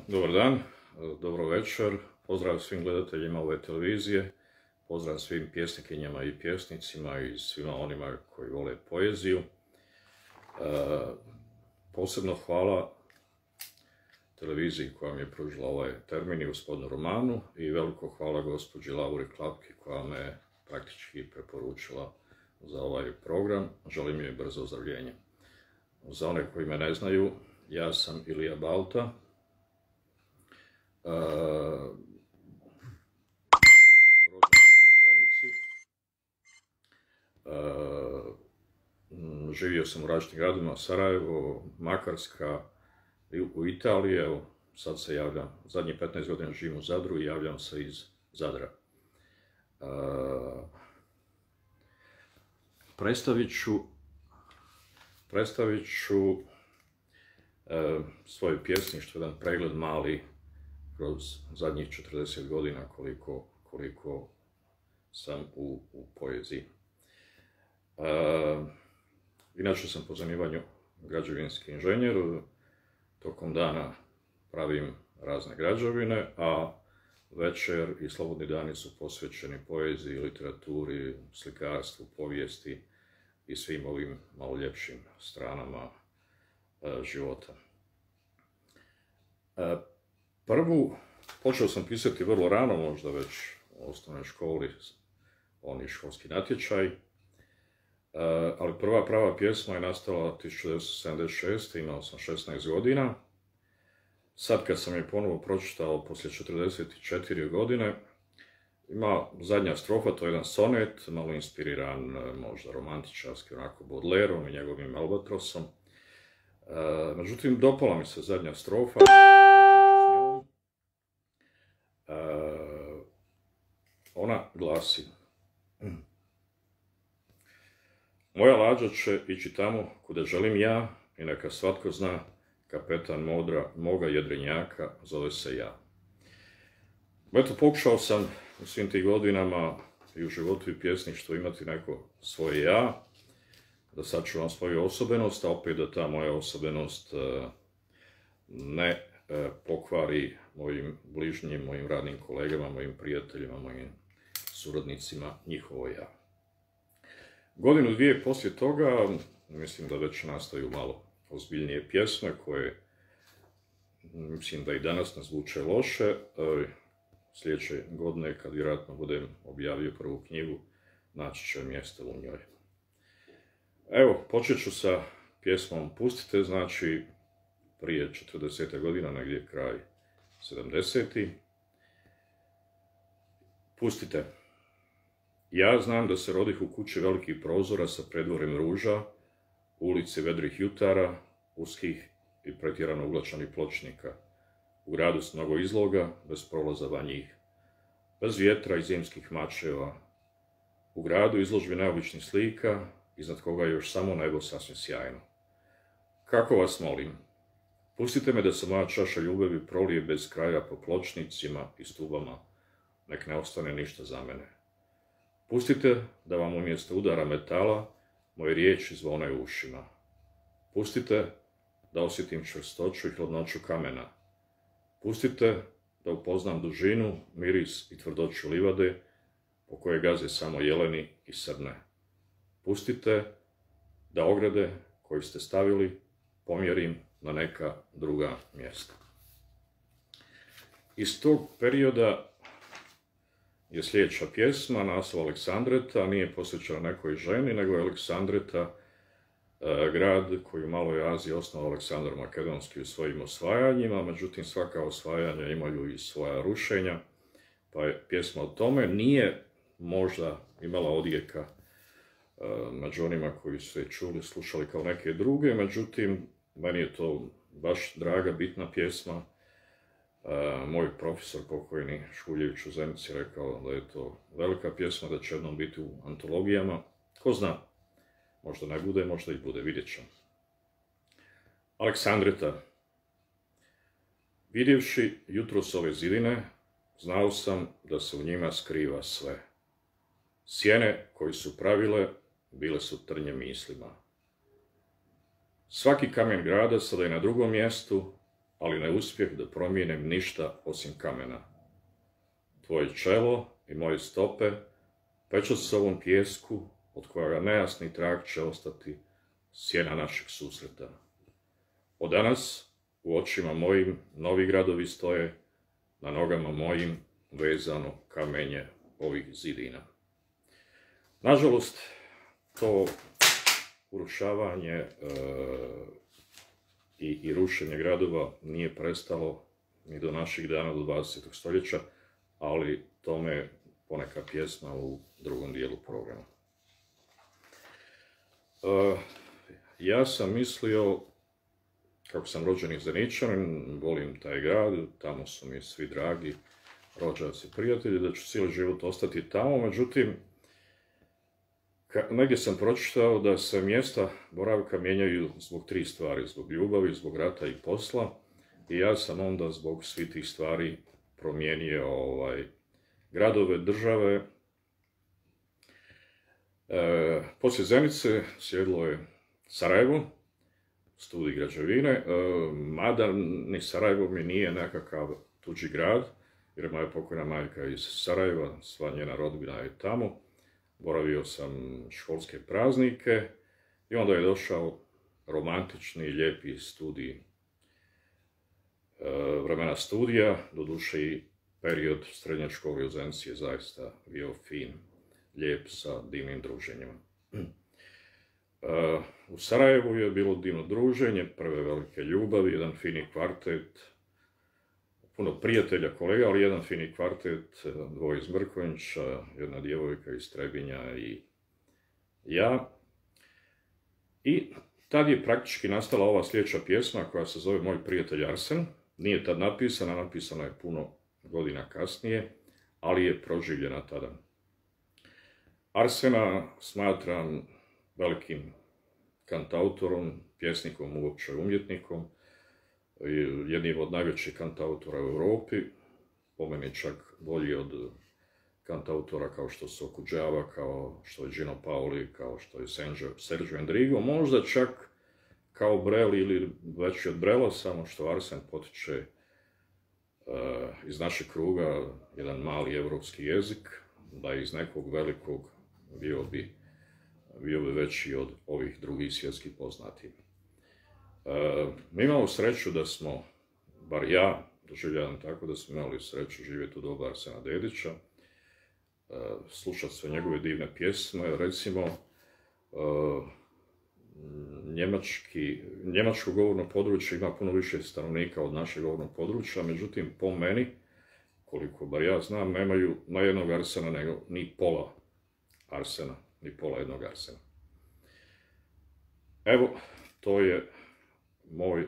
Dobar dan, dobro večer, pozdrav svim gledateljima ove televizije, pozdrav svim pjesnikinjama i pjesnicima i svima onima koji vole poeziju. Posebno hvala televiziji koja mi je pružila ovaj termin i gospodinu Romanu i veliko hvala gospođi Lauri Klapki koja me praktički preporučila za ovaj program. Želim joj brzo ozdravljenje. Za one koji me ne znaju, ja sam Ilija Balta. Rođen sam u Zenici. Živio sam u različitim gradovima, Sarajevo, Makarska, u Italiji. Evo, sad se javljam, zadnjih 15 godina živim u Zadru i javljam se iz Zadra. Predstavit ću svoje pjesništvo, jedan pregled mali kroz zadnjih 40 godina koliko sam u poeziji. Inače sam po zanimanju građevinski inženjer, tokom dana pravim razne građevine, a večer i slobodni dani su posvećeni poeziji, literaturi, slikarstvu, povijesti i svim ovim malo ljepšim stranama života. Počeo sam pisati vrlo rano, možda već u osnovnoj školi, oni školski natječaj, ali prva prava pjesma je nastala 1976. Imao sam 16 godina. Sad kad sam je ponovo pročitao poslije 44 godine, ima zadnja strofa, to je jedan sonet, malo inspiriran možda romantičarski, onako Baudelaireom i njegovim Albatrosom. Međutim, dopala mi se zadnja strofa, ona glasi: moja lađa će ići tamo kuda želim ja i neka svatko zna, kapetan modra moga jedrenjaka zove se ja. Eto, pokušao sam u svim tih godinama i u životu i pjesništvu imati neko svoje ja, da sačuvam svoju osobenost, a opet da ta moja osobenost ne pokvari mojim bližnjim, mojim radnim kolegama, mojim prijateljima, mojim suradnicima njihovo ja. Godinu, dvije poslije toga, mislim da već nastaju malo ozbiljnije pjesme koje, mislim da i danas ne zvuče loše. Sljedeće godine, kad vjerojatno budem objavio prvu knjigu, naći će mjesto u njoj. Evo, počet ću sa pjesmom Pustite, znači prije 40 godina, negdje kraj 70. Pustite. Ja znam da se rodih u kući velikih prozora sa predvorem ruža, ulici vedrih jutara, uskih i pretjerano uglačanih pločnika, u gradu s mnogo izloga, bez prolaza van njih, bez vjetra i zimskih mačeva, u gradu izložbi neobičnih slika, iznad koga je još samo nebo sasvim sjajno. Kako vas molim, pustite me da se moja čaša ljubavi prolije bez kraja po pločnicima i stubama, nek ne ostane ništa za mene. Pustite da vam umjesto udara metala moje riječi zvone u ušima. Pustite da osjetim čvrstoću i hladnoću kamena. Pustite da upoznam dužinu, miris i tvrdoću livade po koje gaze samo jeleni i srne. Pustite da ograde koju ste stavili pomjerim na neka druga mjesta. Iz tog perioda je sljedeća pjesma, naslov Aleksandreta, nije posvećena nekoj ženi, nego je Aleksandreta grad koji u Maloj Aziji osnovao Aleksandar Makedonski u svojim osvajanjima, međutim svaka osvajanja imaju i svoja rušenja, pa je pjesma o tome. Nije možda imala odjeka među onima koji su je čuli, slušali kao neke druge, međutim meni je to baš draga, bitna pjesma. Moj profesor pokojni Škuljević u Zenici rekao da je to velika pjesma, da će jednom biti u antologijama. Ko zna, možda ne bude, možda i bude, vidjet ćemo. Aleksandreta. Vidjevši jutros ove zidine, znao sam da se u njima skriva sve. Sjene koji su pravile, bile su trnje mislima. Svaki kamen grada sada je na drugom mjestu, ali ne uspjeh da promijenim ništa osim kamena. Tvoje čelo i moje stope pečat se ovom pijesku, od kojega nejasni trag će ostati sjena našeg susreta. Od danas u očima mojim novi gradovi stoje, na nogama mojim vezano kamenje ovih zidina. Nažalost, to urušavanje i rušenje gradova nije prestalo ni do naših dana, do 20. stoljeća, ali tome poneka pjesma u drugom dijelu programa. Ja sam mislio, kako sam rođeni Zeničanin, volim taj grad, tamo su mi svi dragi rođaci, prijatelji, da ću cijeli život ostati tamo, međutim, negdje sam pročitao da se mjesta boravka mijenjaju zbog 3 stvari, zbog ljubavi, zbog rata i posla, i ja sam onda zbog svih tih stvari promijenio gradove, države. Poslije Zenice slijedilo je Sarajevo, studij građevine, mada ni Sarajevo mi nije nekakav tuđi grad, jer moja pokojna majka iz Sarajeva, sva njena rodbina je tamo. Boravio sam školske praznike i onda je došao romantični, lijepi studij, vremena studija, doduše i period srednje škole u Zenici je zaista bio fin, lijep sa divnim druženjima. U Sarajevu je bilo divno druženje, prve velike ljubavi, jedan fini kvartet, puno prijatelja, kolega, ali jedan fini kvartet, 2 iz Mrkonjića, jedna djevojka iz Trebinja i ja. I tad je praktički nastala ova sljedeća pjesma koja se zove Moj prijatelj Arsen. Nije tad napisana, napisana je puno godina kasnije, ali je proživljena tada. Arsena smatram velikim kantautorom, pjesnikom, uopće umjetnikom, jednim od najvećih kantautora u Europi, po meni čak bolji od kantautora kao što su Okudžava, kao što je Gino Paoli, kao što je Sergio Endrigo, možda čak kao Brel ili veći od Brela, samo što Arsen potiče iz našeg kruga jedan mali evropski jezik, da je iz nekog velikog bio bi veći od ovih drugih svjetskih poznatih. Mi imamo sreću da smo, bar ja doživljavam tako, da smo imali sreću živjeti u doba Arsena Dedića, slušati sve njegove divne pjesme, recimo njemačko govorno područje ima puno više stanovnika od našeg govornog područja, međutim po meni, koliko bar ja znam, nemaju na jednog Arsena nego ni pola Arsena, ni pola jednog Arsena. Evo, to je moj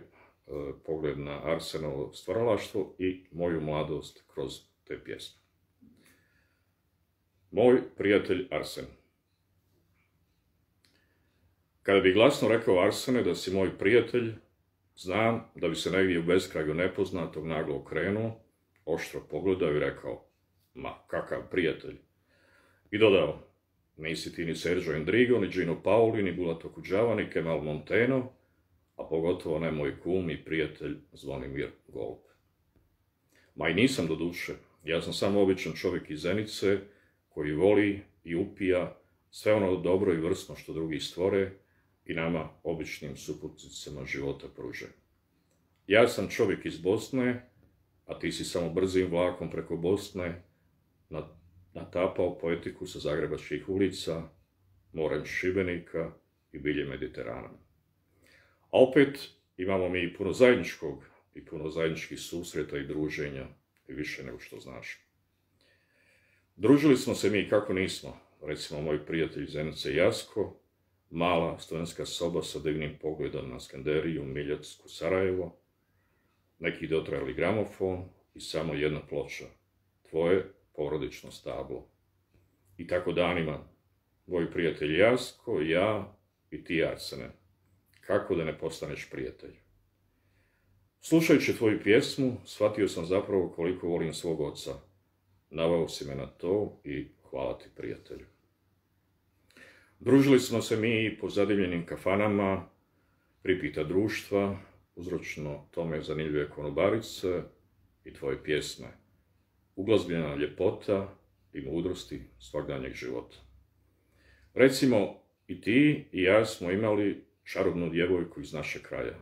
pogled na Arsenovo stvaralaštvo i moju mladost kroz te pjesme. Moj prijatelj Arsen. Kada bi glasno rekao Arsene da si moj prijatelj, znam da bi se negdje u beskraju nepoznatog naglo okrenuo, oštro pogledao i rekao, ma kakav prijatelj. I dodao, nisi ti ni Sergio Endrigo, ni Gino Paoli, ni Bulat Okudžava, ni Kemal Monteno, a pogotovo ne moj kum i prijatelj Zvonimir Golub. Ma i nisam do duše, ja sam samo običan čovjek iz Zenice koji voli i upija sve ono dobro i vrsno što drugi stvore i nama običnim suputnicama života pruže. Ja sam čovjek iz Bosne, a ti si samo brzim vlakom preko Bosne natapao poetiku sa zagrebačkih ulica, morem Šibenika i bilje Mediterana. A opet imamo mi puno zajedničkog i puno zajedničkih susreta i druženja i više nego što znaš. Družili smo se mi kako nismo, recimo moj prijatelj iz Zenice Jasko, mala studentska soba sa divnim pogledom na Skanderiju, Miljacku, Sarajevo, neki dotrajali gramofon i samo jedna ploča, tvoje porodično stablo. I tako danima, moj prijatelj Jasko, ja i ti Arsene, kako da ne postaneš prijatelj. Slušajući tvoju pjesmu, shvatio sam zapravo koliko volim svog oca. Naveo si me na to i hvala ti, prijatelju. Družili smo se mi po zadivljenim kafanama, pripita društva, uzročno tome zanimljive konobarice i tvoje pjesme, uglazbljena ljepota i mudrosti svakdanjeg života. Recimo, i ti i ja smo imali čarobnu djevojku iz našeg kraja.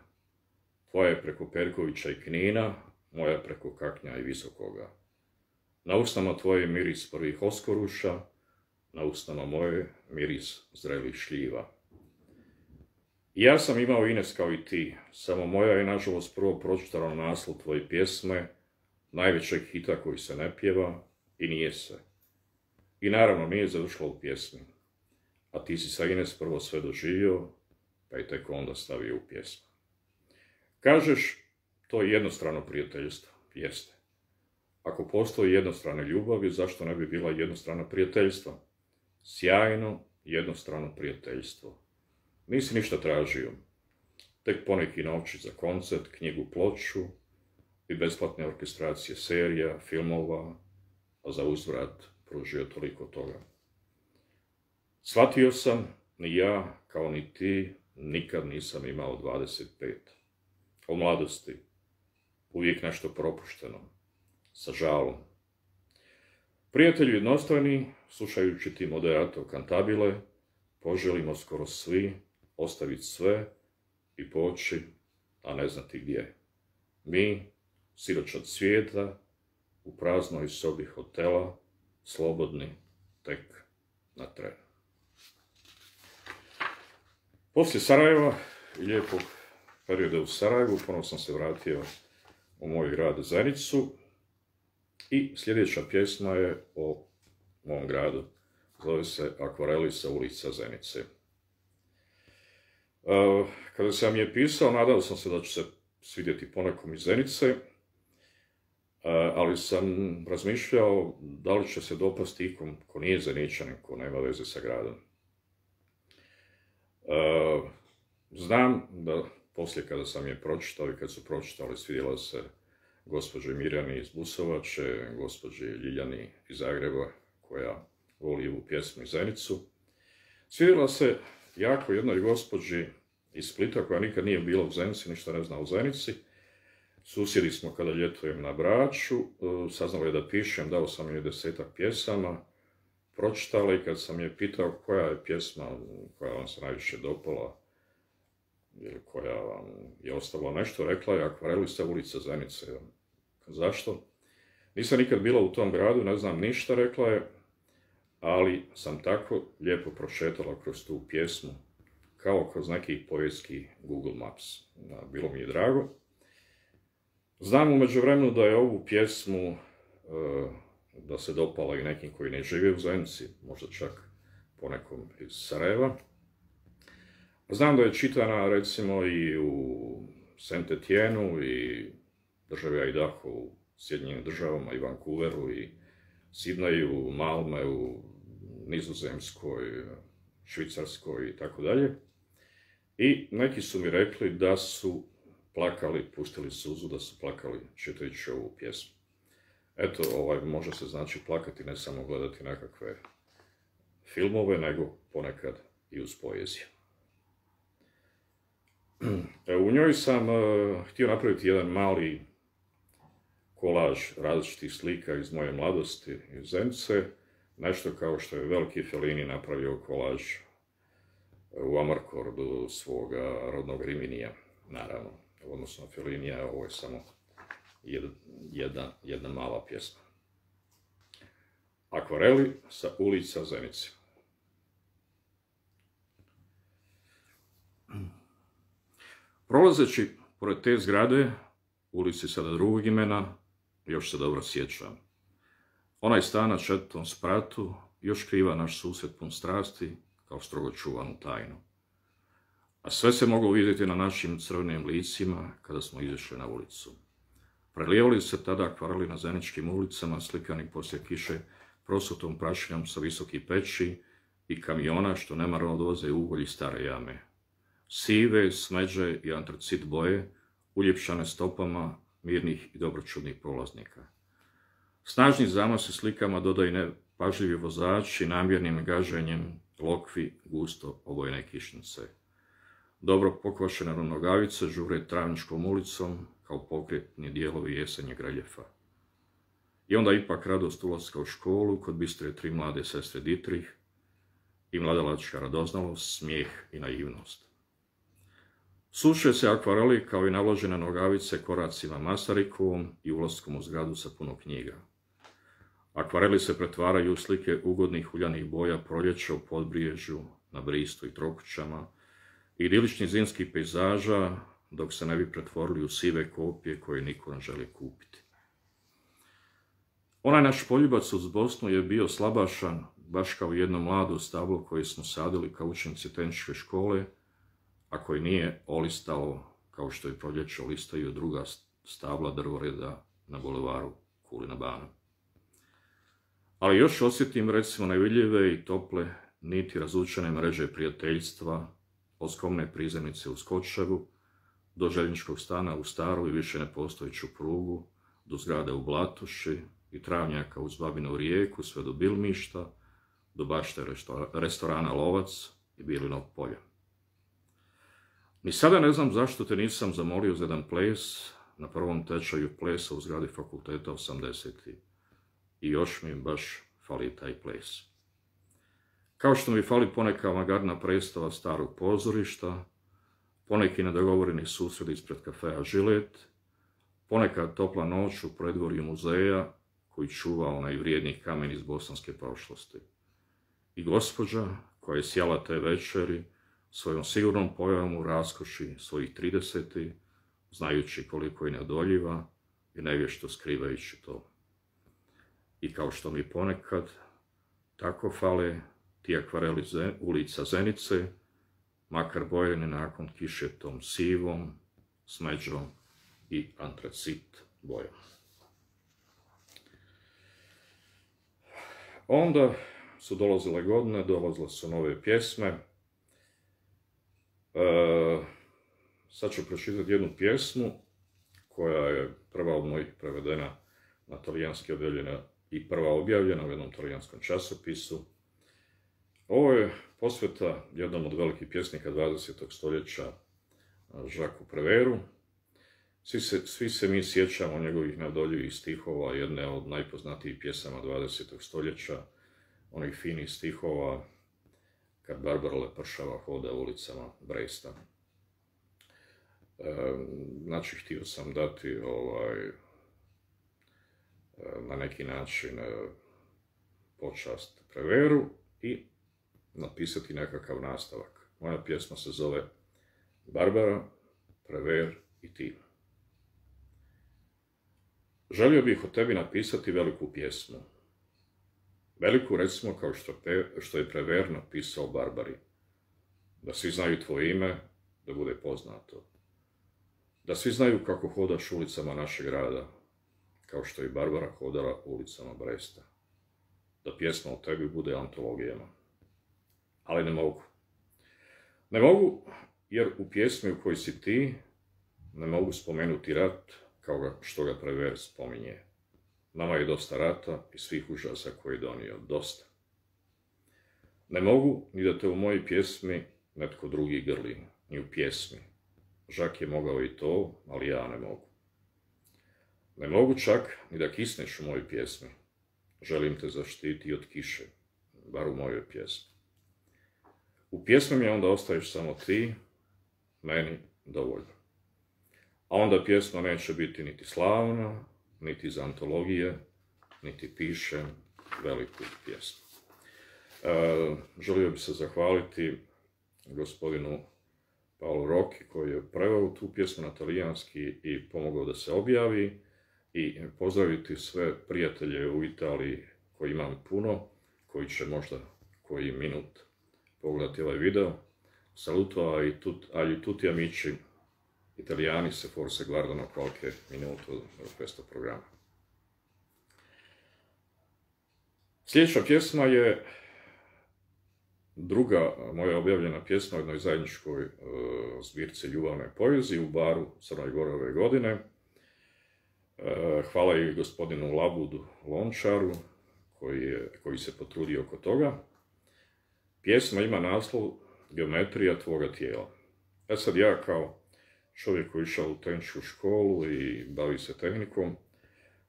Tvoja je preko Perkovića i Knina, moja preko Kaknja i Visokoga. Na usnama tvoje miris prvih oskoruša, na usnama moje miris zrelih šljiva. I ja sam imao Ines kao i ti, samo moja je nažalost prvo pročitala naslov tvoje pjesme, najvećeg hita koji se ne pjeva, i nije se. I naravno nije završila u pjesmi. A ti si sa Ines prvo sve doživio, pa i tek onda stavio u pjesmu. Kažeš, to je jednostrano prijateljstvo. Jeste. Ako postoji jednostrane ljubavi, zašto ne bi bila jednostrana prijateljstva? Sjajno, jednostrano prijateljstvo. Nisi ništa tražio. Tek poneki novčić za koncert, knjigu, ploču i besplatne orkestracije serija, filmova, a za uzvrat pružio toliko toga. Shvatio sam, ni ja, kao ni ti, nikad nisam imao 25. O mladosti, uvijek nešto propušteno, sa žalom. Prijatelji jednostavni, slušajući ti moderato kantabile, poželimo skoro svi ostaviti sve i poći, a ne znati gdje. Mi, siročad svijeta, u praznoj sobi hotela, slobodni tek na tren. Poslije Sarajeva i lijepog perioda u Sarajevu, ponovno sam se vratio u moj grad Zenicu i sljedeća pjesma je o mom gradu. Zove se Akvareli sa ulica Zenice. Kada sam je pisao, nadao sam se da ću se svidjeti ponekom iz Zenice, ali sam razmišljao da li će se dopasti ikom ko nije Zeničanin, ko nema veze sa gradom. Znam da poslije kada sam je pročitao i kad su pročitali, svidjela se gospođi Mirjani iz Busovače, gospođi Ljiljani iz Zagreba, koja voli ovu pjesmu iz Zenicu. Svidjela se jako jednoj gospođi iz Splita, koja nikad nije bila u Zenici, ništa ne zna o Zenici. Susjedi smo kada ljetujem na Braču, saznala je da pišem, dao sam joj 10-ak pjesama, pročitala i kad sam je pitao koja je pjesma koja vam se najviše dopala, ili koja vam je ostavila nešto, rekla je Akvareli sa ulica Zenice. Zašto? Nisam nikad bila u tom gradu, ne znam ništa, rekla je, ali sam tako lijepo prošetala kroz tu pjesmu, kao kroz neki povijetski Google Maps. Bilo mi je drago. Znam u međuvremenu da je ovu pjesmu da se dopala i nekim koji ne žive u Zenici, možda čak ponekom iz Sarajeva. Znam da je čitana recimo i u Saint Etienne-u i državi Idaho u Sjedinjenim državama i Vancouveru i Sidneju, Malmeu, Nizozemskoj, Švicarskoj i tako dalje. I neki su mi rekli da su plakali, pustili suzu, da su plakali čitajući ovu pjesmu. Eto, može se znači plakati, ne samo gledati nekakve filmove, nego ponekad i uz poeziju. U njoj sam htio napraviti jedan mali kolaž različitih slika iz moje mladosti iz Zenice, nešto kao što je veliki Fellini napravio kolaž u Amarkordu svoga rodnog Riminija, naravno. Odnosno Fellinija, ovo je samo jedna mala pjesma. Akvareli sa ulica Zenice. Prolazeći pored te zgrade, ulici sada drugog imena, još se dobro sjećam. Onaj stan na 4. spratu još kriva naš susjed pun strasti, kao strogo čuvanu tajnu. A sve se moglo vidjeti na našim crvenim licima kada smo izašli na ulicu. Prelijevali se tada akvareli na zeničkim ulicama, slikani poslije kiše prosutom prašinjom sa visokih peći i kamiona što nemarno odvoze ugolji stare jame. Sive, smeđe i antracit boje, uljepšane stopama mirnih i dobročudnih prolaznika. Snažni zamasi slikama dodaju nepažljivi vozači namjernim gaženjem lokvi gusto obojene kišnice. dobro pokvašene nogavice žure Travničkom ulicom kao pokretni dijelovi jesenjeg reljefa. I onda ipak radost ulaska u školu kod bistre 3 mlade sestre Dietrich i mladalačka radoznalost, smijeh i naivnost. Suše se akvareli kao i navlažene nogavice koracima Masarikovom i ulaskom u zgradu sa puno knjiga. Akvareli se pretvaraju u slike ugodnih uljanih boja proljeća u Podbriježju, na Bristu i Trokućama, i idiličnih zimskih pejzaža, dok se ne bi pretvorili u sive kopije koje niko ne želi kupiti. Onaj naš poljubac uz Bosnu je bio slabašan, baš kao jedno mlado stablo koje smo sadili kao učenici tehničke škole, a koje nije olistalo kao što je proljeće olistaju druga stabla drvoreda na bulevaru Kulina bana. Ali još osjetim recimo nevidljive i tople niti razvučene mreže prijateljstva, od skromne prizemnice u Skočevu, do željezničkog stana u staru i više nepostojeću prugu, do zgrade u Blatuši i travnjaka uz Babinu rijeku, sve do Bilmišta, do bašte restorana Lovac i Bilinog polja. Ni sada ne znam zašto te nisam zamolio za jedan ples na prvom tečaju plesa u zgradi fakulteta 80. I još mi baš fali taj ples. Kao što mi fali poneka avangardna predstava starog pozorišta, poneki nedogovoreni susret ispred kafeja Žilet, ponekad topla noć u predvorju muzeja koji čuva onaj vrijedni kamen iz bosanske prošlosti. I gospođa koja je sjala te večeri svojom sigurnom pojavom u raskoši svojih 30, znajući koliko je neodoljiva i nevješto skrivajući to. I kao što mi ponekad tako fale ti akvareli ulica Zenice, makar bojeni nakon kiše tom sivom, smeđom i antracit bojom. Onda su dolazile godine, dolazile su nove pjesme. Sad ću pročitati jednu pjesmu koja je prva od mojih prevedena na talijanski objavljena i prva objavljena u jednom talijanskom časopisu. Ovo je posveta jednom od velikih pjesnika 20. stoljeća, Jacquesu Prévert. Svi se mi sjećamo njegovih neodoljivih stihova, jedne od najpoznatijih pjesama 20. stoljeća, onih finih stihova kad Barbara Lepršava hoda ulicama Bresta. Znači, htio sam dati na neki način počast Prévertu i napisati nekakav nastavak. Moja pjesma se zove Barbara, Prévert i ti. Želio bih o tebi napisati veliku pjesmu. Veliku, recimo, kao što je Prévert napisao Barbari. Da svi znaju tvoje ime, da bude poznato. Da svi znaju kako hodaš ulicama našeg grada, kao što je Barbara hodala ulicama Bresta. Da pjesma o tebi bude antologijama. Ali ne mogu. Ne mogu, jer u pjesmi u kojoj si ti ne mogu spomenuti rat kao što ga Prévert spominje. Nama je dosta rata i svih užasa koje je donio. Dosta. Ne mogu ni da te u mojoj pjesmi netko drugi grli, ni u pjesmi. Jacques je mogao i to, ali ja ne mogu. Ne mogu čak ni da kisneš u mojoj pjesmi. Želim te zaštiti od kiše, bar u mojoj pjesmi. U pjesmi mi onda ostaješ samo ti, meni dovoljno. A onda pjesma neće biti niti slavna, niti iz antologije, niti pišem veliku pjesmu. Želio bih se zahvaliti gospodinu Paolo Rocchi koji je preveo tu pjesmu na talijanski i pomogao da se objavi, i pozdraviti sve prijatelje u Italiji koji imam puno, koji će možda koji minut pogledati ovaj video. Saluto agli tutti amici italiani se forse guardano qualche minuto da questo programma. Sljedeća pjesma je druga moja objavljena pjesma u jednoj zajedničkoj zbirci ljubavne poezije u baru Crnoj Gori ove godine. Hvala i gospodinu Labudu Lončaru koji se potrudio oko toga. Pjesma ima naslov Geometrija tvoga tijela. Sad ja kao čovjek koji je išao u tehničku školu i bavi se tehnikom,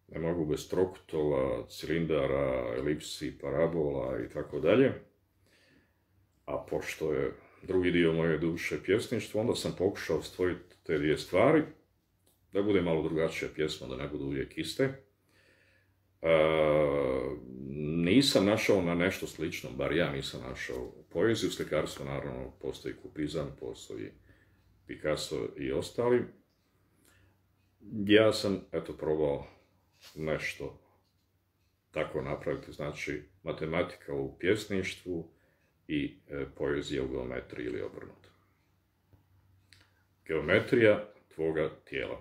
ne mogu bez trokutova, cilindara, elipsi, parabola i tako dalje. A pošto je drugi dio moje duše pjesništvo, onda sam pokušao stvoriti te dvije stvari, da bude malo drugačija pjesma, da ne budu uvijek iste. Nisam našao na nešto slično, bar ja nisam našao poeziju, slikarstvo, naravno, postoji Kupizam, postoji Picasso i ostali. Ja sam, probao nešto tako napraviti, znači matematika u pjesništvu i poezija u geometriji ili obrnuto. Geometrija tvoga tijela.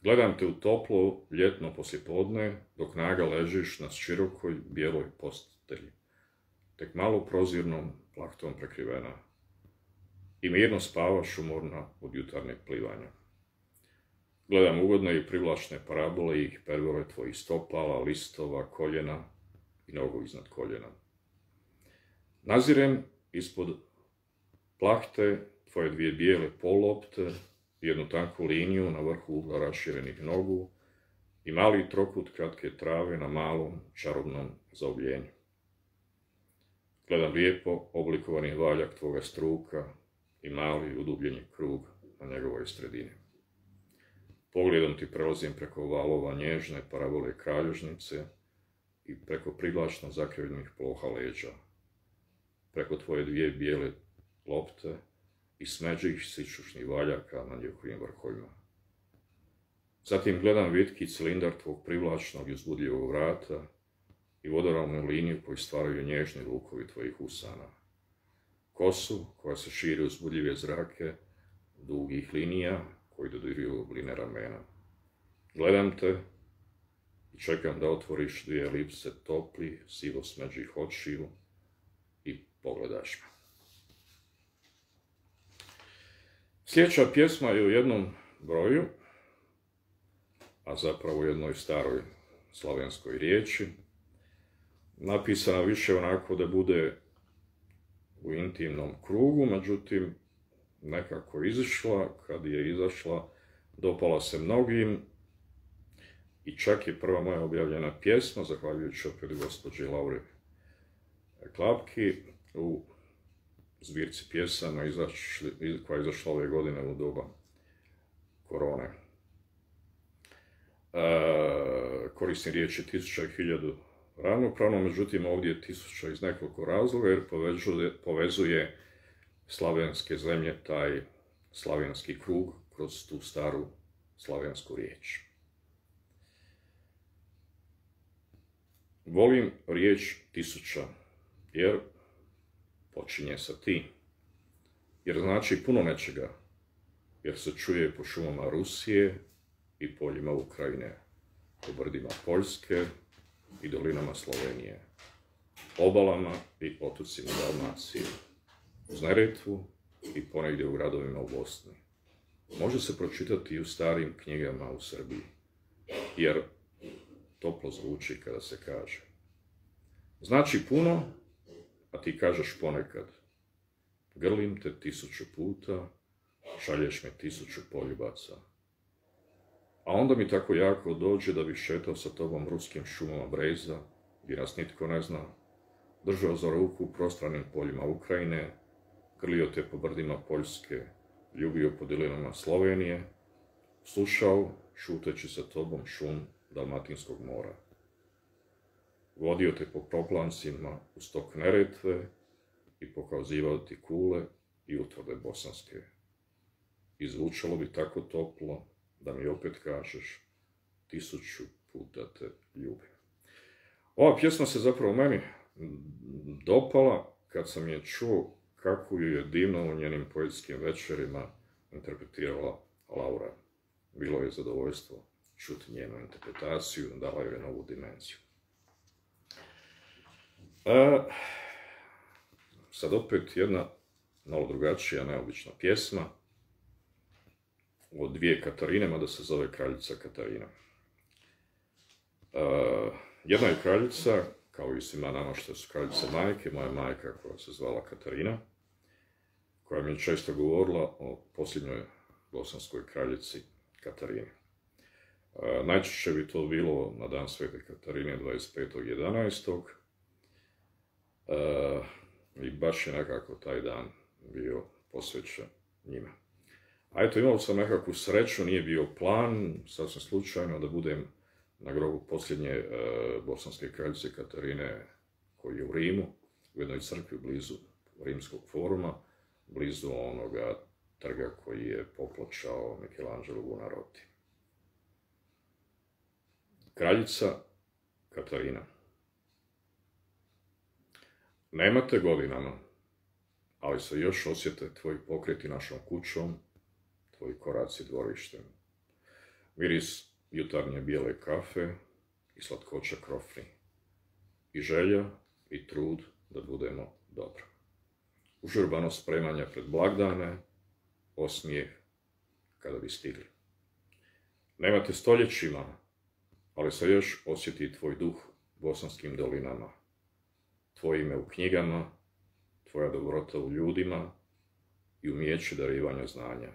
Gledam te u toplo ljetno poslijepodne, dok naga ležiš na širokoj bijeloj postelji, tek malo prozirnom plahtom prekrivena, i mirno spavaš umorna od jutarnjeg plivanja. Gledam ugodne i privlačne parabole i hiperbole tvojih stopala, listova, koljena i nogu iznad koljena. Nazirem ispod plahte tvoje dvije bijele pollopte, jednu tanku liniju na vrhu ugla raširenih nogu i mali trokut kratke trave na malom čarobnom zaobljenju. Gledam lijepo oblikovani valjak tvoga struka i mali udubljeni krug na njegovoj sredini. Pogledom ti prelazim preko valova nježne parabole kralježnice i preko privlačno zakrivljenih ploha leđa, preko tvoje dvije bijele lopte i smeđih sičušnih valjaka na njihovim vrhovima. Zatim gledam vitki cilindar tvog privlačnog i uzbudljivog vrata i vodoravnu liniju koju stvaraju nježni lukovi tvojih usana. Kosu koja se širi uzbudljive zrake, dugih linija koji dodiruju obline ramena. Gledam te i čekam da otvoriš dvije elipse toplih, sivo smeđih očiju i pogledaš me. Sljedeća pjesma je u jednom broju, a zapravo u jednoj staroj slavenskoj riječi, napisana više onako da bude u intimnom krugu, međutim, nekako izišla, kad je izašla, dopala se mnogim i čak je prva moja objavljena pjesma, zahvaljujući opet gospođi Lauri Klapki, u zbirci pjesama koja je izašla ove godine u doba korone. Koristim riječi 1000 i 1000 ravnopravno, međutim ovdje je 1000 iz nekoliko razloga jer povezuje slavenske zemlje, taj slavenski krug kroz tu staru slavensku riječ. Volim riječ 1000 jer počinje sa ti, jer znači puno nečega, jer se čuje po šumama Rusije i poljima Ukrajine, po brdima Poljske i dolinama Slovenije, obalama i otocima Dalmacije, uz Neretvu i ponegdje u gradovima u Bosni. Može se pročitati i u starim knjigama u Srbiji, jer toplo zvuči kada se kaže. Znači puno, a ti kažeš ponekad. Grlim te 1000 puta, šalješ me 1000 poljubaca. A onda mi tako jako dođe da bi šetao sa tobom ruskim šumama breza, gdje nas nitko ne zna, držao za ruku u prostranim poljima Ukrajine, grlio te po brdima Poljske, ljubio po dilinama Slovenije, slušao, šuteći sa tobom šum Dalmatinskog mora. Vodio te po proplancima u stok Neretve i pokazivao ti kule i utvrde bosanske. I zvučalo bi tako toplo da mi opet kažeš 1000 puta te ljubim. Ova pjesma se zapravo meni dopala kad sam je čuo kako ju je divno u njenim poetskim večerima interpretirala Laura. Bilo je zadovoljstvo čuti njenu interpretaciju, dala joj novu dimenziju. Sad opet jedna malo drugačija, neobična pjesma od dvije Katarine, mada se zove Kraljica Katarina. Jedna je kraljica, kao i svima nama što su kraljice majke, moja majka koja se zvala Katarina, koja mi je često govorila o posljednjoj bosanskoj kraljici Katarini. Najčešće bi to bilo na dan Svete Katarine 25.11. I baš je nekako taj dan bio posvećen njima. A eto, imao sam nekakvu sreću, nije bio plan, sasvim slučajno, da budem na grobu posljednje bosanske kraljice Katarine, koji je u Rimu, u jednoj crkvi blizu Rimskog foruma, blizu onoga trga koji je popločao Michelangelo Buonarroti. Kraljica Katarina. Nemate godinama, ali se još osjete tvoji pokreti našom kućom, tvoji koraci dvorištem. Miris jutarnje bijele kafe i slatkoća krofni. I želja i trud da budemo dobro. Užurbano spremanje pred blagdane, osmijeh kada bi stigli. Nemate stoljećima, ali se još osjeti tvoj duh bosanskim dolinama. Tvoje ime u knjigama, tvoja dobrota u ljudima i umijeće darivanja znanja.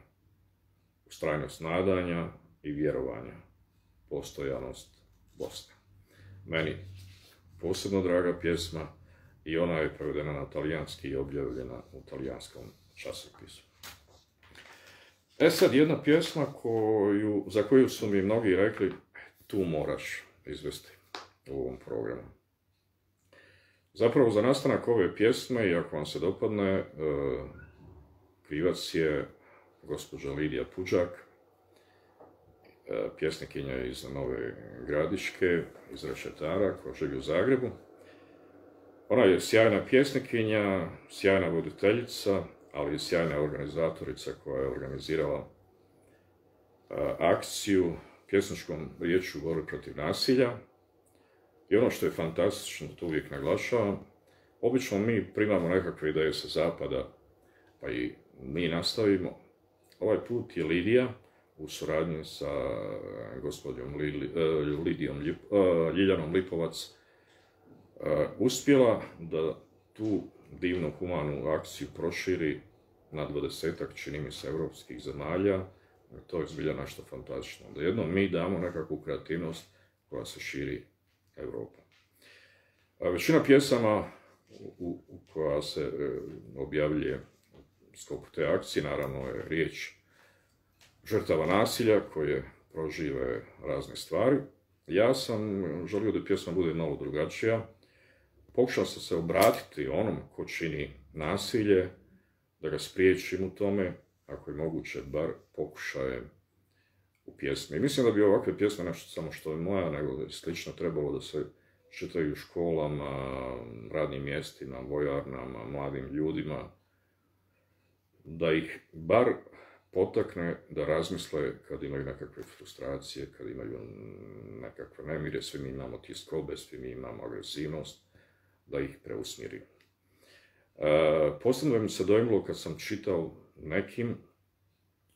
Ustrajnost nadanja i vjerovanja. Postojanost Bosne. Meni posebno draga pjesma i ona je prevedena na talijanski i objavljena u talijanskom časopisu. Sad jedna pjesma za koju su mi mnogi rekli tu moraš izvesti u ovom programu. Zapravo za nastanak ove pjesme, i ako vam se dopadne, krivac je gospođa Lidija Puđak, pjesnikinja iz Nove Gradiške, iz Rešetara, koja živi u Zagrebu. Ona je sjajna pjesnikinja, sjajna voditeljica, ali i sjajna organizatorica koja je organizirala akciju pjesničkom riječju borbe protiv nasilja. I ono što je fantastično, to uvijek naglašavam, obično mi primamo nekakve ideje sa zapada, pa i mi nastavimo. Ovaj put je Lidija, u suradnji sa gospođom Ljiljanom Lipovac, uspjela da tu divnu humanu akciju proširi na 20-ak, čini mi se, evropskih zemalja. To je zbilja nešto fantastično. Da jednom mi damo nekakvu kreativnost koja se širi Evropom. Većina pjesama koja se objavljuje u sklopu te akcije, naravno je riječ žrtava nasilja koje prožive razne stvari. Ja sam želio da pjesma bude malo drugačija. Pokušao sam se obratiti onom ko čini nasilje, da ga spriječim u tome, ako je moguće, bar pokušajem u pjesmi. Mislim da bi ovakve pjesme, nešto samo što je moja, nego da je slično trebalo da se čitaju u školama, radnim mjestima, vojarnama, mladim ljudima, da ih bar potakne da razmisle kad imaju nekakve frustracije, kad imaju nekakve nemire, svi mi imamo tjeskobe, svi mi imamo agresivnost, da ih preusmjeri. Posebno mi se dojmilo kad sam čitao nekim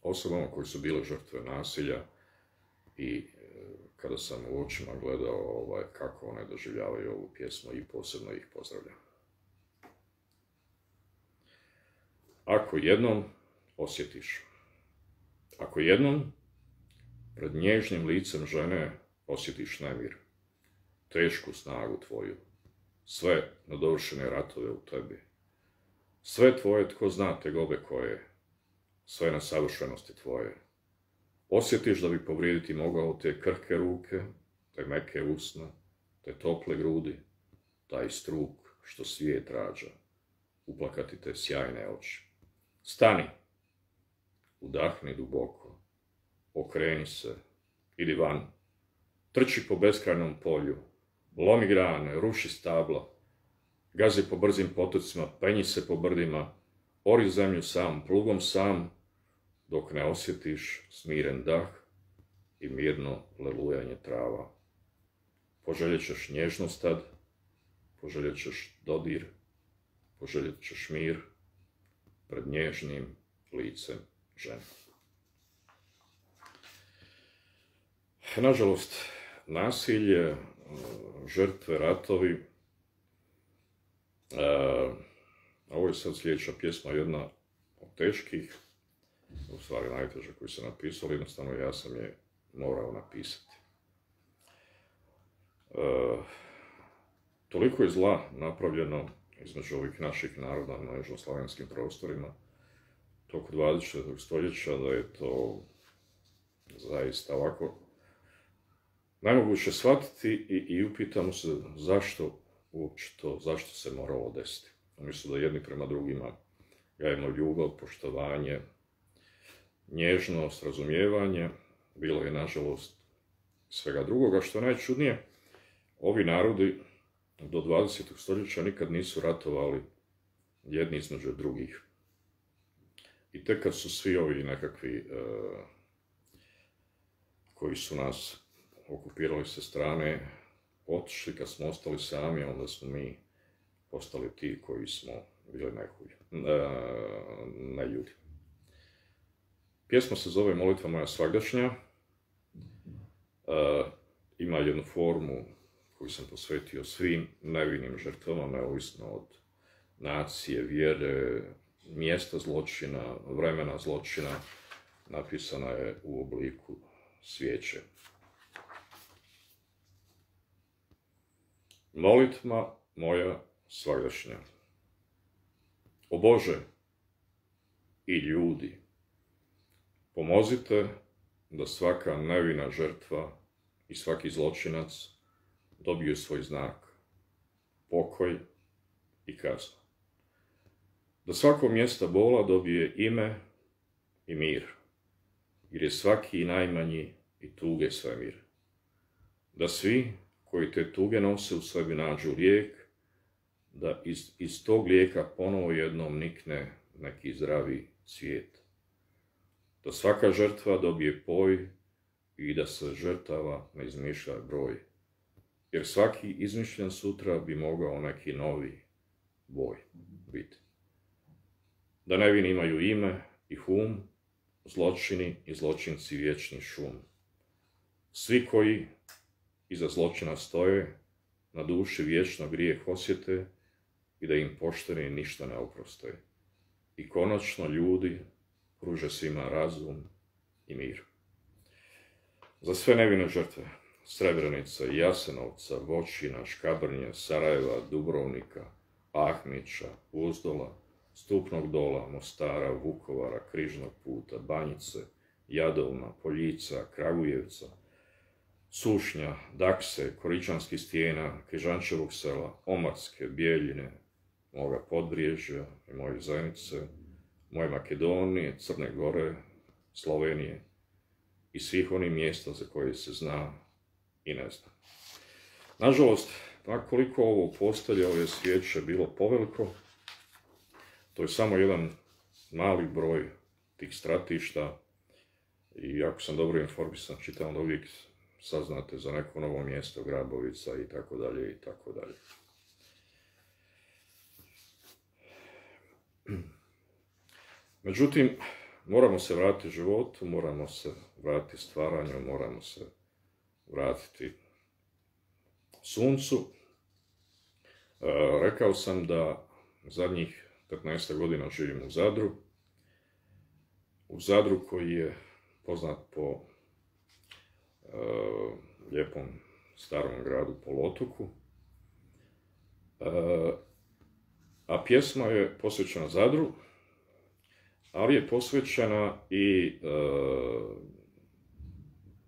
osobama koji su bile žrtve nasilja i kada sam u očima gledao kako one doživljavaju ovu pjesmu i posebno ih pozdravljam. Ako jednom osjetiš, ako jednom pred nježnim licem žene osjetiš nemir, tešku snagu tvoju, sve nadovršene ratove u tebi, sve tvoje tko zna tegobe koje, sve nesavršenosti tvoje, osjetiš da bi povrijediti mogao te krhke ruke, te meke usna, te tople grudi, taj struk što svijet rađa, uplakati te sjajne oči. Stani, udahni duboko, okreni se, idi van, trči po beskrajnom polju, lomi grane, ruši stabla, gazi po brzim potocima, penji se po brdima, ori zemlju sam, plugom sam, dok ne osjetiš smiren dah i mirno lelujanje trava. Poželjet ćeš nježnost tad, poželjet ćeš dodir, poželjet ćeš mir pred nježnim licem žene. Nažalost, nasilje, žrtve, ratovi, ovo je sad sljedeća pjesma, jedna od teških, u stvari najteže koji su napisali, jednostavno ja sam je morao napisati. Toliko je zla napravljeno između ovih naših naroda na južnoslavenskim prostorima tokom 20. stoljeća da je to zaista ovako najmoguće shvatiti i upitamo se zašto uopće to, zašto se moralo desiti. Umjesto da jedni prema drugima gajemo ljubav, poštovanje, nježnost, razumijevanje, bilo je nažalost svega drugoga. Što je najčudnije, ovi narodi do 20. stoljeća nikad nisu ratovali jedni između drugih. I tek kad su svi ovi nekakvi koji su nas okupirali sa strane otišli, kad smo ostali sami, onda smo mi postali ti koji smo bili najljudi. Pjesma se zove Molitva moja svagdašnja. Ima jednu formu koju sam posvetio svim nevinim žrtvama, neovisno od nacije, vjere, mjesta zločina, vremena zločina. Napisana je u obliku svijeće. Molitva moja svagdašnja. O Bože i ljudi, pomozite da svaka nevina žrtva i svaki zločinac dobiju svoj znak, pokoj i kaznu. Da svako mjesta bola dobije ime i mir, jer je svaki najmanji i tuge svemir. Da svi koji te tuge nose u sebi nađu lijek, da iz tog lijeka ponovo jednom nikne neki zdravi cvijet. Da svaka žrtva dobije poj i da se žrtava ne izmišlja broj, jer svaki izmišljen sutra bi mogao neki novi boj biti. Da nevini imaju ime i hum, zločini i zločinci vječni šum. Svi koji iza zločina stoje, na duši vječno grijeh osjete i da im pošteni ništa ne oproste. I konačno ljudi pruže svima razum i mir. Za sve nevine žrtve, Srebrenice, Jasenovca, Voćina, Škabrnje, Sarajeva, Dubrovnika, Ahmića, Uzdola, Stupnog Dola, Mostara, Vukovara, Križnog puta, Banjice, Jadovna, Poljica, Kragujevca, Sušnja, Dakse, Koričanskih stijena, Križančevog sela, Omarske, Bijeljine, moga Podbriježja i moje Zenice, moje Makedonije, Crne Gore, Slovenije i svih onih mjesta za koje se zna i ne zna. Nažalost, koliko ovo postelje, ove svijeće bilo poveliko, to je samo jedan mali broj tih stratišta i ako sam dobro informisan, čitam da uvijek saznate za neko novo mjesto, Grabovica i tako dalje i tako dalje. Međutim, moramo se vratiti životu, moramo se vratiti stvaranju, moramo se vratiti suncu. Rekao sam da zadnjih 15 godina živim u Zadru. U Zadru koji je poznat po lijepom starom gradu poluotoku. A pjesma je posvećena Zadru, ali je posvećena i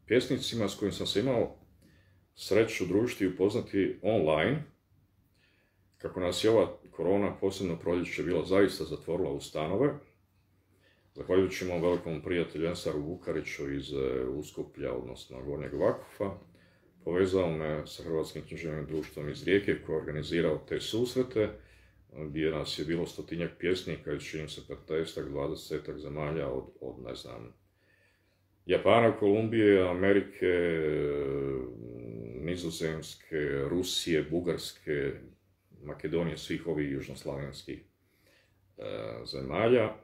pjesnicima s kojim sam se imao sreću družiti i upoznati online. Kako nas je ova korona, posebno proljeće, bila zaista zatvorila u stanove, zahvaljujući mom velikom prijatelju Ensaru Vukariću iz Uskuplja, odnosno Gornjeg Vakufa, povezao me sa Hrvatskim književnim društvom iz Rijeke koji je organizirao te susrete, gdje nas je bilo 100-tinjak pjesnika iz, čini se, 15-ak, 20-ak zemalja od, ne znam, Japana, Kolumbije, Amerike, Nizozemske, Rusije, Bugarske, Makedonije, svih ovih južnoslavenskih zemalja.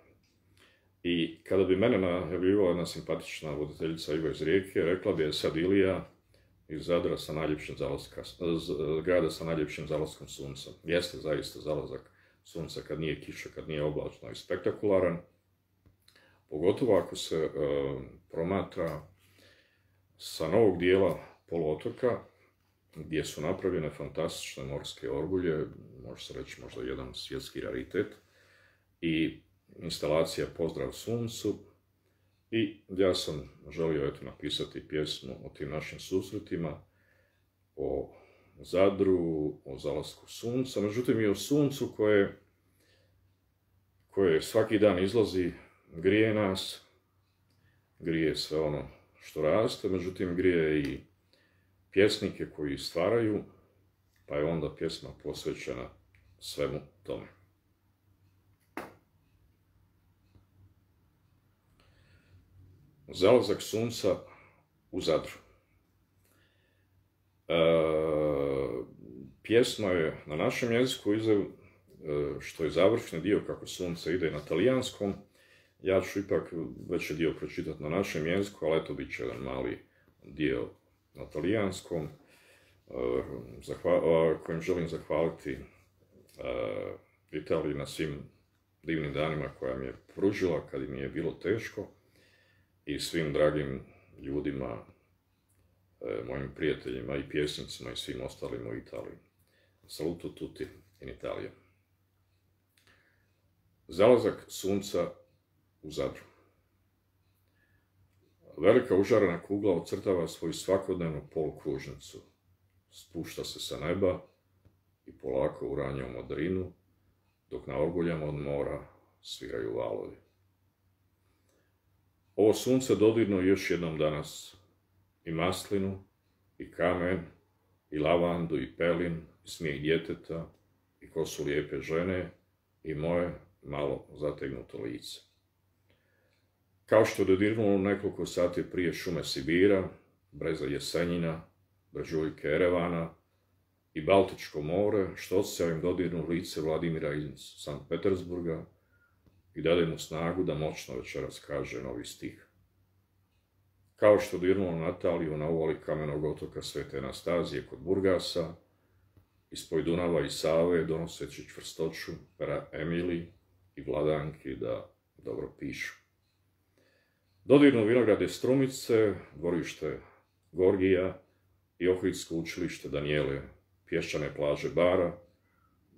I kada bi mene najavljivala jedna simpatična voditeljica Iva iz Rijeke, rekla bi je sad Ilija iz Zadra sa najljepšim grada sa najljepšim zalaskom sunca. Jeste zaista zalazak sunca kad nije kiša, kad nije oblačno i spektakularan, pogotovo ako se promatra sa novog dijela poluotoka, gdje su napravljene fantastične morske orgulje, može se reći možda jedan svjetski raritet, i instalacija Pozdrav suncu. I ja sam želio napisati pjesmu o tim našim susretima, o Zadru, o zalasku sunca, međutim i o suncu koje svaki dan izlazi, grije nas, grije sve ono što raste, međutim grije i pjesnike koji stvaraju, pa je onda pjesma posvećena svemu tome. Zalazak sunca u Zadru. Pjesma je na našem jeziku, što je završni dio kako sunce ide na talijanskom. Ja ću ipak veći dio pročitati na našem jeziku, ali eto bit će jedan mali dio na talijanskom, kojim želim zahvaliti Italiji na svim divnim danima koja mi je pružila kad mi je bilo teško, i svim dragim ljudima, mojim prijateljima i pjesnicima i svim ostalim u Italiji. Saluto tutti in Italia. Zalazak sunca u Zadru. Velika užarena kugla ocrtava svoju svakodnevnu polukružnicu. Spušta se sa neba i polako uranja u modrinu, dok na orguljama od mora sviraju valovi. Ovo sunce dodirnu još jednom danas i maslinu, i kamen, i lavandu, i pelin, i smijeh djeteta, i kosu lijepe žene, i moje malo zategnuto lice. Kao što dodirnulo nekoliko sati prije šume Sibira, breza Jesenjina, brežuljke Erevana i Baltičko more, što osjećajem dodirnu lice Vladimira iz Sankt Petersburga i dade mu snagu da moćno večeras kaže novi stih. Kao što dirnulo Nataliju na uvali kamenog otoka Svete Anastazije kod Burgasa, ispod Dunava i Save donoseći čvrstoću pera Emili i Vladanki da dobro pišu. Dodirnu vinograde Strumice, dvorište Gorgija i Ohridsko učilište Danijele, pješčane plaže Bara,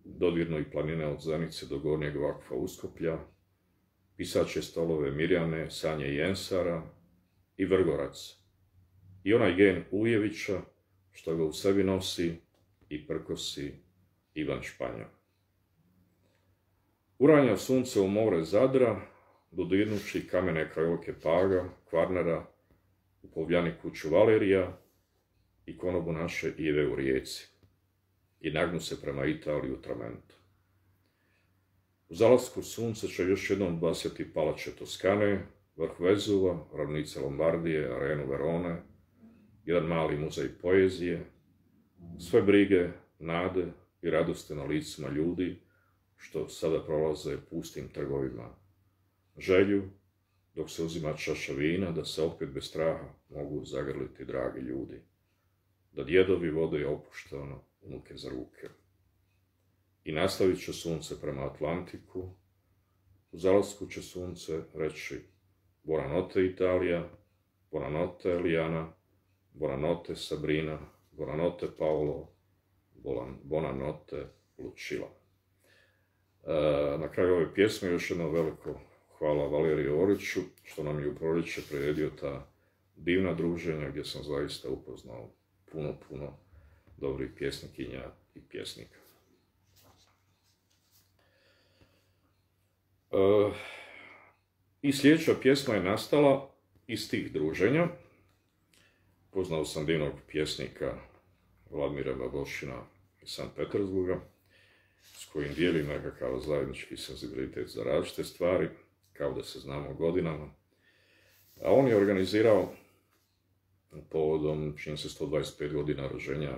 dodirnu i planine od Zenice do Gornjeg Vakfa Uskoplja, pisače stolove Mirjane, Sanje i Jensara i Vrgorac, i onaj gen Ujevića što ga u sebi nosi i prkosi Ivan Španjol. Uranja sunce u more Zadra, dodirnući kamene krajolke Paga, Kvarnera, u Povljani kuću Valerija i konobu naše Ive u Rijeci, i nagnu se prema Italiji u Tramentu. U zalasku sunce će još jednom basjati palače Toskane, vrh Vezuva, ravnice Lombardije, arenu Verone, jedan mali muzej poezije, sve brige, nade i radosti na licima ljudi što sada prolaze pustim trgovima, želju dok se uzima čaša vina da se opet bez straha mogu zagrliti dragi ljudi, da djedovi vode opušteno unuke za ruke. I nastavit će sunce prema Atlantiku, u zalasku će sunce reći Buonanotte Italija, Buonanotte Eliana, Buonanotte Sabrina, Buonanotte Paolo, Buonanotte Lucilla. Na kraju ove pjesme još jedno veliko hvala Valeriju Oriću što nam je u proljeće priredio ta divna druženja gdje sam zaista upoznao puno dobrih pjesnikinja i pjesnika. I sljedeća pjesma je nastala iz tih druženja. Poznao sam divnog pjesnika Vladimira Babošina iz Sankt Petersburga, s kojim dijelim nekakav zajednički senzibilitet za različite stvari, kao da se znamo godinama. A on je organizirao povodom, čini se 125 godina rođenja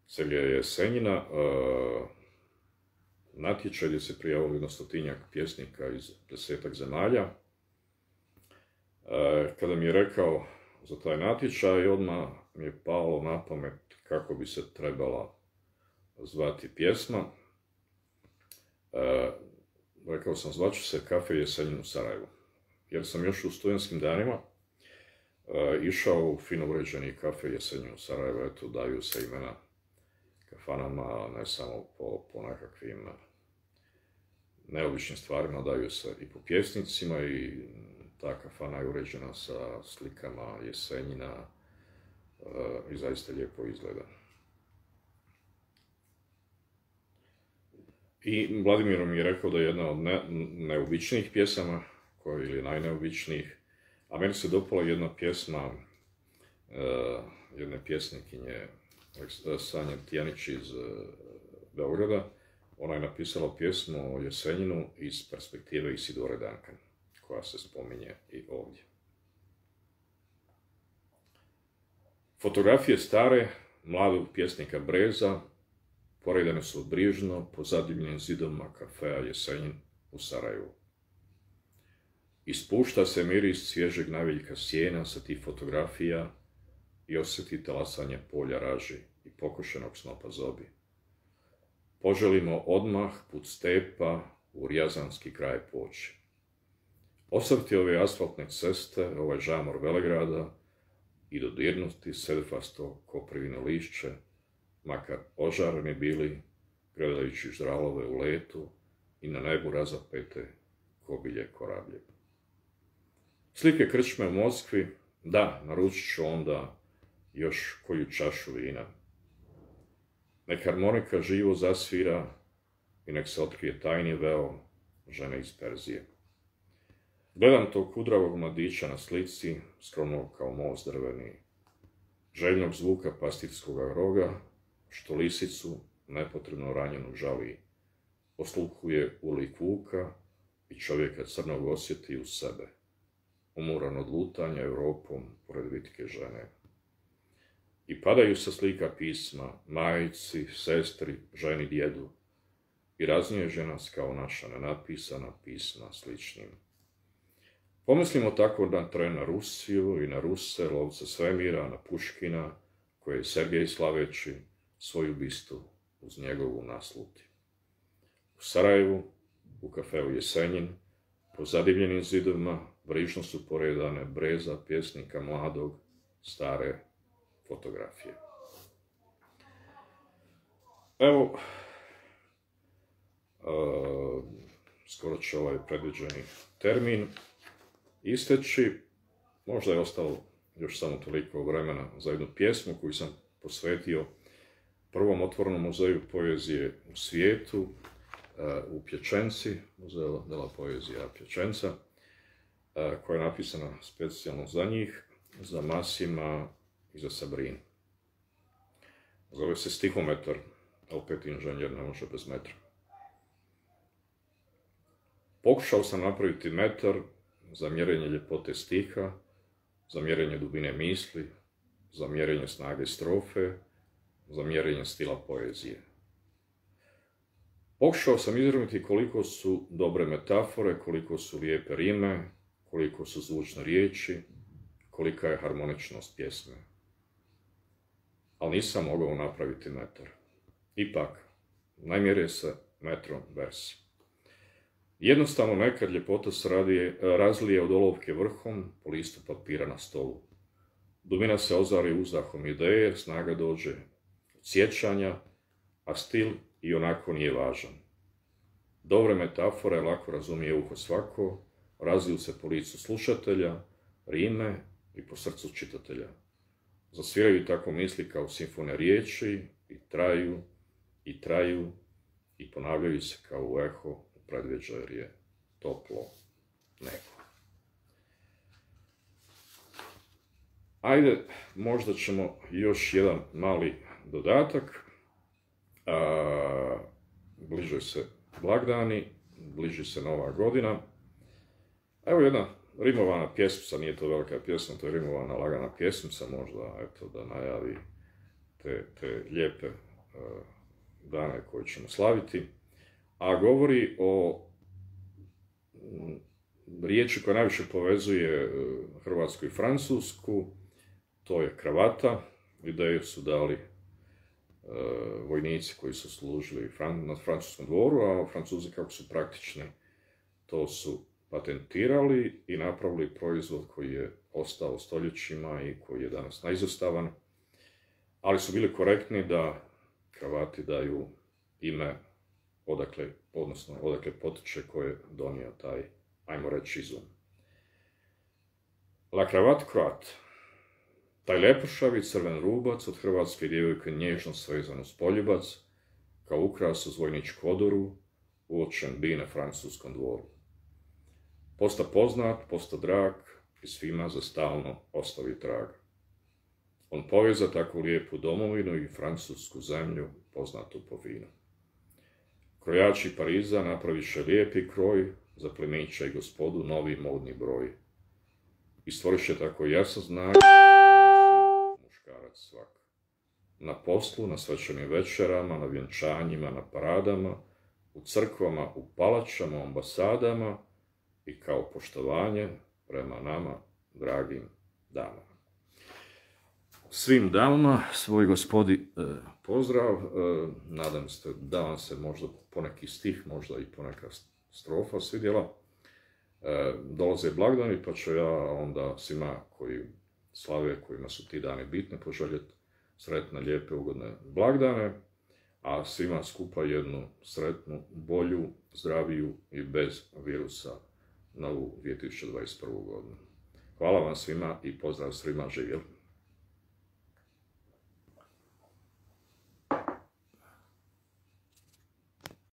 Sergeja Jesenjina, natječaj gdje se prijavilo 100-tinjak pjesnika iz 10-ak zemalja. Kada mi je rekao za taj natječaj, odmah mi je palo na pamet kako bi se trebala zvati pjesma. Rekao sam, zvaću se Kafe Jesenjin u Sarajevu. jer sam još u studentskim danima išao u fino uređeni kafe Jesenjin u Sarajevu, eto, daju se imena kafanama, ne samo po nekakvim neobičnim stvarima, daju se i po pjesnicima i ta kafana je uređena sa slikama Jesenjina i zaista lijepo izgleda. I Vladimir mi je rekao da je jedna od neobičnijih pjesama, ili najneobičnijih, a meni se dopala jedna pjesma jedne pjesnikinje Sanje Tijanić iz Beograda. Ona je napisala pjesmu o Jesenjinu iz perspektive Isidore Duncan, koja se spominje i ovdje. Fotografije stare, mladog pjesnika Breza, poredane su brižno po zadivljenim zidovima kafea Jesenjin u Sarajevu. Ispušta se miris svježeg naviljka sjena sa tih fotografija i osjeti talasanje polja raži i pokošenog snopa zobi. Poželimo odmah put stepa u Rijazanski kraj poći. Osvrti ove asfaltne ceste, ovaj žamor Velegrada i dodirnuti sedfasto koprivino lišće, makar ožareni bili, gledajući ždralove u letu i na nebu razapete kobilje korablje. Slike krčme u Moskvi, da, naručit ću onda još koju čašu vina. Nek harmonika živo zasvira i nek se otkrije tajni veo žene iz Perzije. Gledam tog kudravog mladića na slici, skromnog kao most drveni, željnog zvuka pastirskog roga, što lisicu nepotrebno ranjenu žali, osluhuje u lik vuka i čovjeka crnog osjeti u sebe, umuran od lutanja Europom pored vitke žene. I padaju sa slika pisma, majici, sestri, ženi, djedu, i raznježe nas kao naša nenapisana pisma sličnim. Pomislimo tako na Rusiju i na Ruse, lovce svemira, na Puškina, koje je Sergej slaveći svoju bistu uz njegovu nasluti. U Sarajevu, u kafeu Jesenjin, po zadivljenim zidovima, brižno su poredane Breza, pjesnika mladog, stare fotografije. Evo, skoro će ovaj predviđeni termin isteći. Možda je ostalo još samo toliko vremena za jednu pjesmu koju sam posvetio prvom otvorenom muzeju poezije u svijetu, u Pječenci, Muzeo della Poezija Pječenca, koja je napisana specijalno za njih, za Masima i za Sabrinu. Zove se Stihometar, opet inženjer ne može bez metra. Pokušao sam napraviti metar za mjerenje ljepote stiha, za mjerenje dubine misli, za mjerenje snage strofe, za mjerenje stila poezije. Pokušao sam izraviti koliko su dobre metafore, koliko su lijepe rime, koliko su zvučne riječi, kolika je harmoničnost pjesme. Ali nisam mogao napraviti metar. Ipak, najmjerije se metrom vers. Jednostavno nekad ljepota se razlije od olovke vrhom po listu papira na stolu. Dubina se ozari uzdahom ideje, snaga dođe od sjećanja, a stil i onako nije važan. Dobre metafore lako razumije uho svako, razliju se po licu slušatelja, rime i po srcu čitatelja. Zasviraju tako misli kao simfone riječi i traju, i traju, i ponavljaju se kao u eho u predvjeđu jer je toplo nebo. Ajde, možda ćemo još jedan mali dodatak. Bliže se blagdani, bliži se Nova godina. Evo jedna rimovana pjesmica, nije to velika pjesma, to je rimovana lagana pjesmica, možda eto, da najavi te lijepe dane koje ćemo slaviti. A govori o riječi koja najviše povezuje Hrvatsku i Francusku, to je kravata. Ideju su dali vojnici koji su služili na francuskom dvoru, a Francuzi kako su praktični, to su patentirali i napravili proizvod koji je ostao stoljećima i koji je danas neizostavan, ali su bili korektni da kravati daju ime odakle potiče ko je donio taj, ajmo reći, izum. La cravate croate. Taj lepršavi crven rubac od hrvatske djevojke nježno svezan uz poljubac, kao ukras uz vojničku odoru, uočen bi na francuskom dvoru. Posta poznat, posta drag i svima za stalno ostavi trag. On poveza takvu lijepu domovinu i francusku zemlju poznatu po vinu. Krojači Pariza napraviše lijepi kroj za plemića i gospodu novi modni broj. I stvoriše tako jasan znak muškarac svak. Na poslu, na svečanim večerama, na vjenčanjima, na paradama, u crkvama, u palačama, ambasadama i kao poštovanje prema nama, dragim damama. Svim damama, svoj gospodi pozdrav, nadam se da vam se možda poneki stih, možda i poneka strofa svidjela. Dolaze blagdani, pa ću ja onda svima koji slave, kojima su ti dani bitne, poželjeti sretne, lijepe, ugodne blagdane, a svima skupa jednu sretnu, bolju, zdraviju i bez virusa novu 2021. godinu. Hvala vam svima i pozdrav svima, živjeli!